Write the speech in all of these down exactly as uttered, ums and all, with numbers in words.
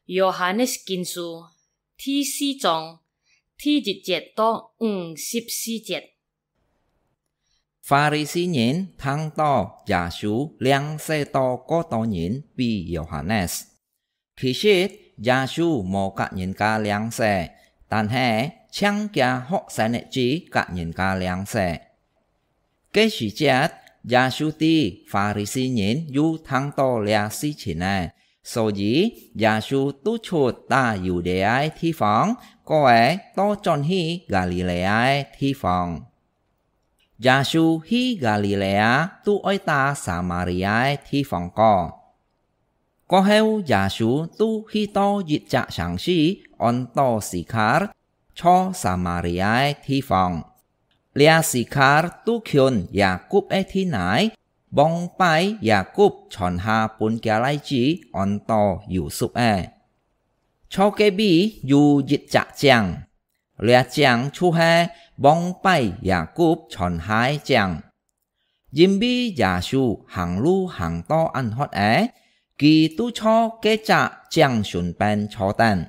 Yohanes Kinsu第四章第一節到五十四節。法利賽人聽到耶穌領洗到過多人比Yohanes。其實耶穌無佮人家領洗，但係淨厥學生仔仔佮人家領洗。 該時節，耶穌知法利賽人有聽到這事情仔，所以耶穌逐出打猶太个地方，過仔倒轉去加利利亞个地方。耶穌去加利利亞，都愛打撒馬利亞个地方過。 過後耶穌都去到一隻城市，安到西卡，在撒馬利亞个地方。這西卡都近雅各个地泥，往擺雅各傳下分厥倈子安到有叔仔。在該位有一隻井，這井就係往擺雅各傳下个井。 因為耶穌行路行到恁渴仔，佢都在該隻井脣邊坐等。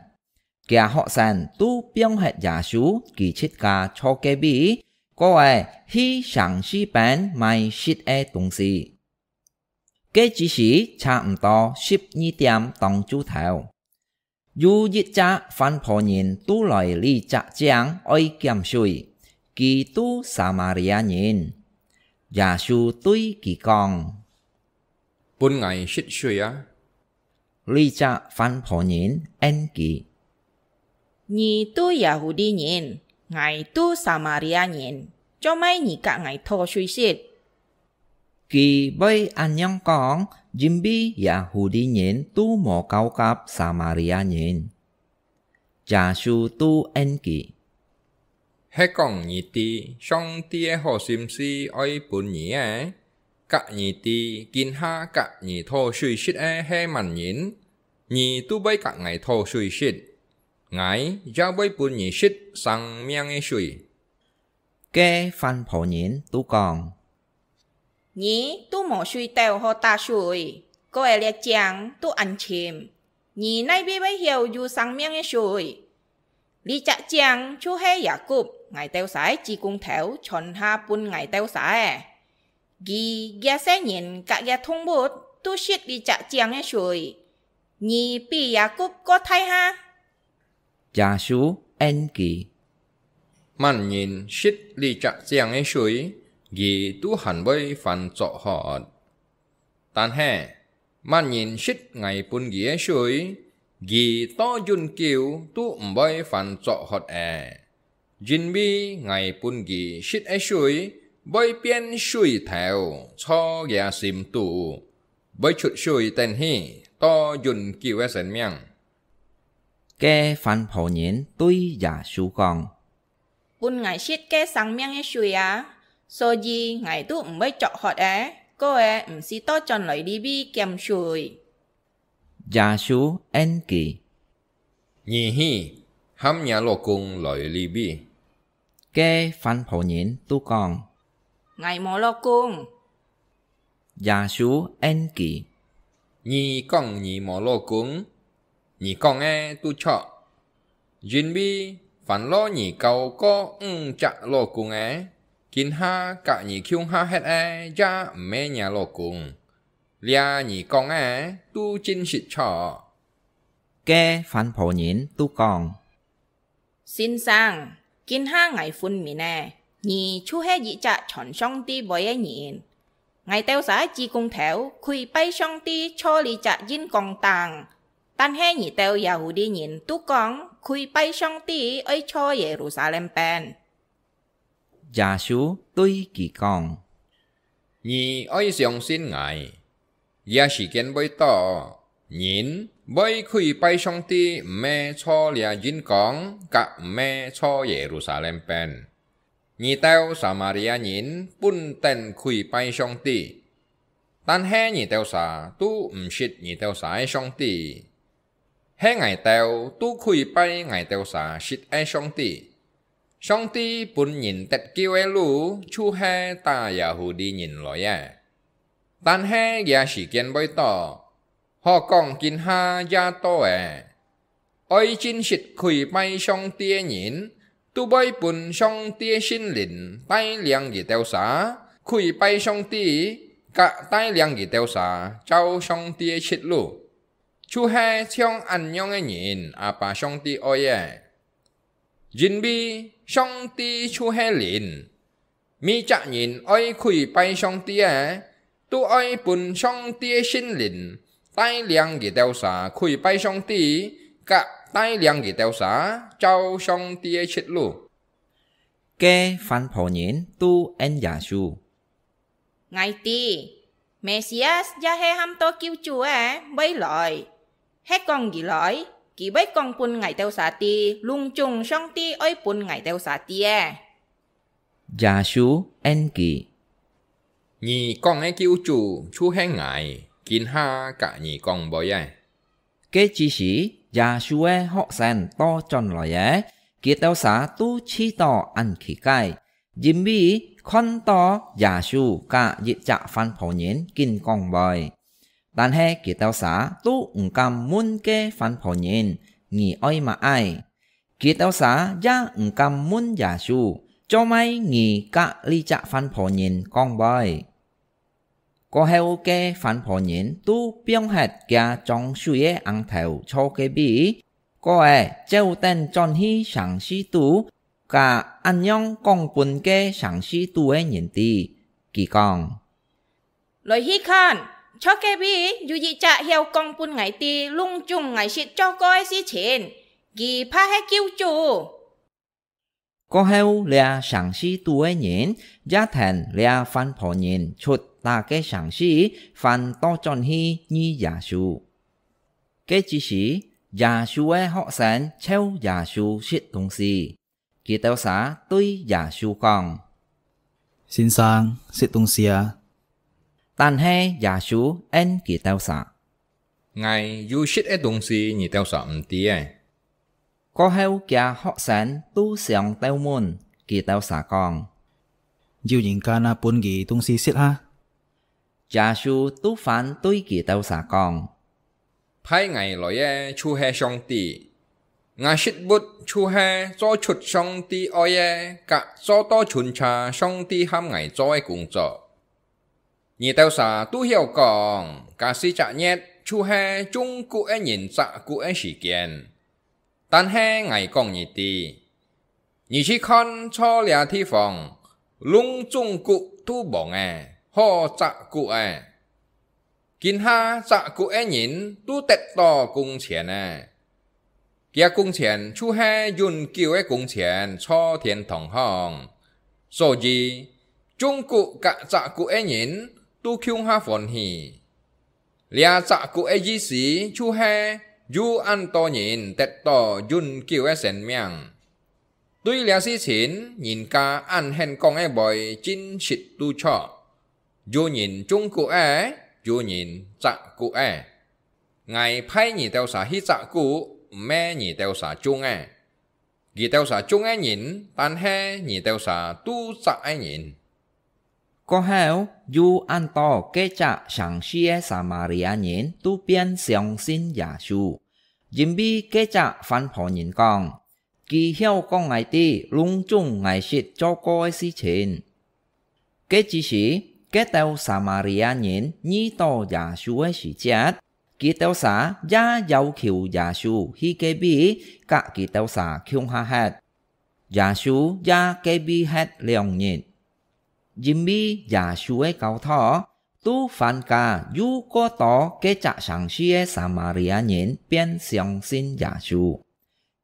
厥學生都放忒耶穌，佢自家坐該位，過仔去城市邊買食个東西。該只時差毋多十二點當晝頭。 有一隻番婆人都來這隻井愛撿水，佢都撒馬利亞人。耶穌對佢講：「分𠊎食水啊！」這隻番婆人應佢：「你都耶戶地人，𠊎都撒馬利亞人，做麼你佮𠊎討水食？」 佢會恁樣講，因為耶戶地人都無交合撒馬利亞人。耶穌都應佢：「係講你知上帝个好心思愛分你个，佮你知今下佮你討水食个係麼人，你都會佮𠊎討水食，𠊎也會分你食生命个水。」 該番婆人都講：「你都無水斗好打水，過仔這井都恁深，你哪位會曉有生命个水？這隻井就係雅各，𠊎兜儕个子公頭傳下分𠊎兜儕个。佢這世人佮這動物都食這隻井个水，你比雅各過大下？」 耶穌應佢：「麼人食這隻井个水，佢都還會還作渴；但係，麼人食𠊎分佢个水，佢到永久都毋會還作渴咧。因為𠊎分佢食个水，會變水頭，在厥心肚，會出水等去，到永久个生命。」 該番婆人對耶穌講：「分𠊎食該生命个水啊，所以𠊎都毋會作渴咧，過仔毋使倒轉來這位撿水。」耶穌應佢：「你去，喊若老公來這位。」 該番婆人都講：「𠊎無老公。」耶穌應佢：「你講你無老公，你講个都著。因為還摎你交過五隻老公个，今下佮你共下歇个也毋係若老公。這你講个都真實著。」 該番婆人都講：「先生，今下𠊎分明咧，你就係一隻傳上帝話个人。𠊎兜儕个子公頭跪拜上帝坐這隻印光頂，但係你兜耶戶地人都講跪拜上帝愛坐耶路撒冷邊。」 耶穌對佢講：「你愛相信𠊎，這時間會到，人會跪拜上帝毋係坐這印光，佮毋係坐耶路撒冷邊。你兜撒馬利亞人本等跪拜上帝，但係你兜儕都毋識你兜儕个上帝。 係𠊎兜都跪拜𠊎兜儕識个上帝。上帝分人得救个路，就係打耶戶地人來个。但係這時間會到，好講今下也到咧，愛真實跪拜上帝个人，都會分上帝个聖靈帶領佢兜儕跪拜上帝，佮帶領佢兜儕照上帝个直路。就係像恁樣个人，阿爸上帝愛个。因為上帝就係靈， 每隻人愛跪拜上帝个，都愛分上帝个聖靈帶領佢兜儕跪拜上帝，佮帶領佢兜儕照上帝个直路。該番婆人都應耶穌：「𠊎知，彌賽亞也係喊做救主个會來。係講佢來，佢會講分𠊎兜儕知，攏總上帝愛分𠊎兜儕知个。」 耶穌應佢：「你講个救主就係𠊎今下佮你講話个。」該之時，耶穌个學生倒轉來个，佢兜儕都試著恁奇怪，因為看著耶穌佮一隻番婆人緊講話。但係佢兜儕都毋敢問該番婆人：「你愛麼个？」 佢兜儕也毋敢問耶穌：「做麼你佮這隻番婆人講話？」過後，該番婆人都放忒厥裝水个尪頭坐該位，過仔走等轉去城市肚，佮恁樣講分該城市肚个人知。佢講：「來去看，坐該位有一隻曉講分𠊎知攏總𠊎識做過个事情，佢怕係救主。」過後，這城市肚个人也聽這番婆人出哪个城市，還倒轉去遇耶穌。該之時，耶穌个學生招耶穌食東西。 佢兜儕對耶穌講：「先生，食東西啊！」但係耶穌應佢兜儕：「𠊎有食个東西，你兜儕毋知仔。」過後，厥學生都想鬥問，佢兜儕講：「有人敢啊分佢東西食啊？」 耶穌都還對佢兜儕講：「派𠊎來个就係上帝。𠊎職務就係做出上帝愛个，佮做到巡查上帝喊𠊎做个工作。你兜儕都曉講，這四隻月就係種穀个人摘穀个時間。 但係𠊎講你知，你去看，在這地方，攏總穀都黃仔，好摘穀仔。今下摘穀个人都得到工錢仔，厥工錢就係永久个工錢，在天堂項。所以，種穀佮摘穀个人都共下歡喜。 這摘穀个意思就係有恁多人得到永久个生命。對這事情，人家恁肯講个話真實都著。有人種穀仔，有人摘穀仔。𠊎派你兜儕去摘穀，毋係你兜儕種个。 佢兜儕種个人，但係你兜儕都摘个人。」過後，有恁多該隻城市个撒馬利亞人都變相信耶穌，因為該隻番婆人講：「佢曉講𠊎知攏總𠊎識做過个事情。」 該之時，該兜撒馬利亞人遇到耶穌个時節，佢兜儕也要求耶穌去該位佮佢兜儕共下歇。耶穌也該位歇兩日。因為耶穌个教導，都還加有過多該隻城市个撒馬利亞人變相信耶穌。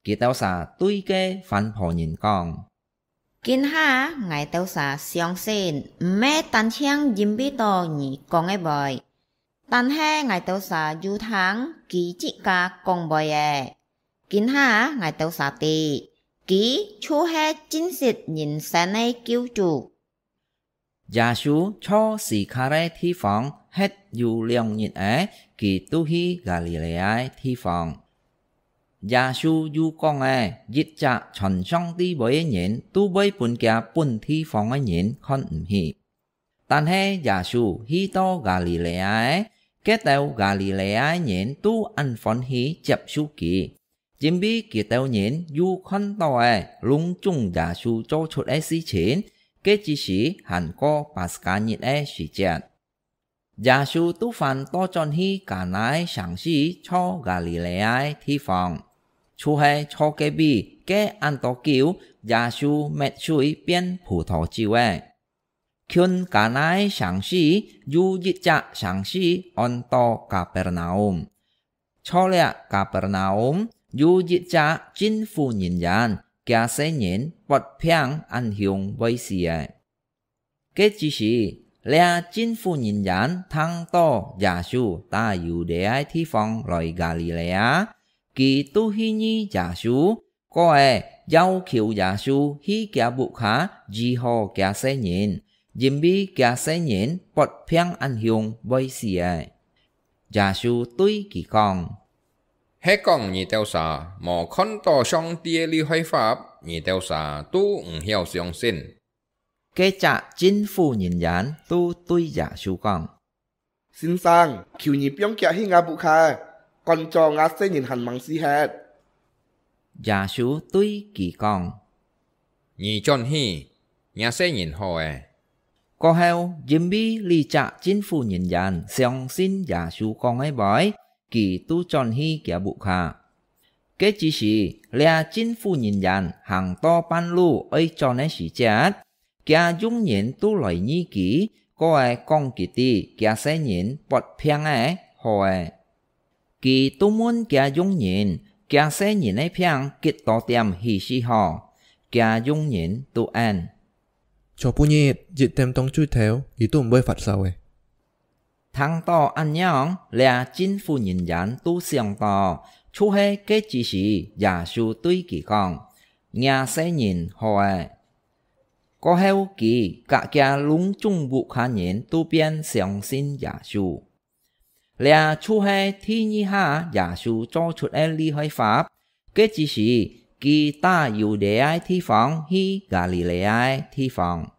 佢兜儕對該番婆人講： 「今下𠊎兜儕相信，毋係單淨因為到你講个話，但係𠊎兜儕有聽佢自家講話仔。今下𠊎兜儕知，佢就係真實人生个救主。」耶穌在西卡个地方歇有兩日仔，佢就去加利利亞个地方。 耶穌有講仔，一隻傳上帝話个人都會分厥本地方个人看毋起。但係耶穌去到加利利亞仔，該兜加利利亞个人都恁歡喜接受佢，因為佢兜人又看到了攏總耶穌做出个事情，該之時還過巴斯加日个時節。耶穌都還倒轉去加拿个城市坐加里利亞个地方，就係坐該位該恁多久耶穌搣水變葡萄酒个。 近加拿个城市有一隻城市安到加百納吾。坐了加百納吾有一隻政府人員，厥細人發病恁凶會死个。該之時，這政府人員聽到耶穌打由這个地方來加里利亞，佢都去遇耶穌， 過仔要求耶穌去厥屋下醫好厥細人，因為厥細人發病恁凶會死个。耶穌對佢講：「係講你兜儕無看到上帝个厲害法，你兜儕都毋曉相信。」 該隻政府人員都對耶穌講：「先生，求你放厥去吾屋下，趕早吾細人還吂死忒。」耶穌對佢講：「你轉去，若細人好了。」過後，因為這隻政府人員相信耶穌講个話，佢都轉去厥屋下。 該之時，這政府人員行到半路愛轉个時節，厥佣人都來遇佢，過仔講佢知厥細人發病仔好了。佢都問厥佣人：「厥細人个病幾多點起勢好？」厥佣人都應： 「昨晡日一點鐘最頭，佢都毋會發燒了。」聽到恁樣，這政府人員都想到，就係該之時耶穌對佢講：「若細人好了。」過後佢佮厥攏總屋下人都變相信耶穌。 這就係第二下耶穌做出个厲害法，該之時佢打由這个地方去加里利亞个地方。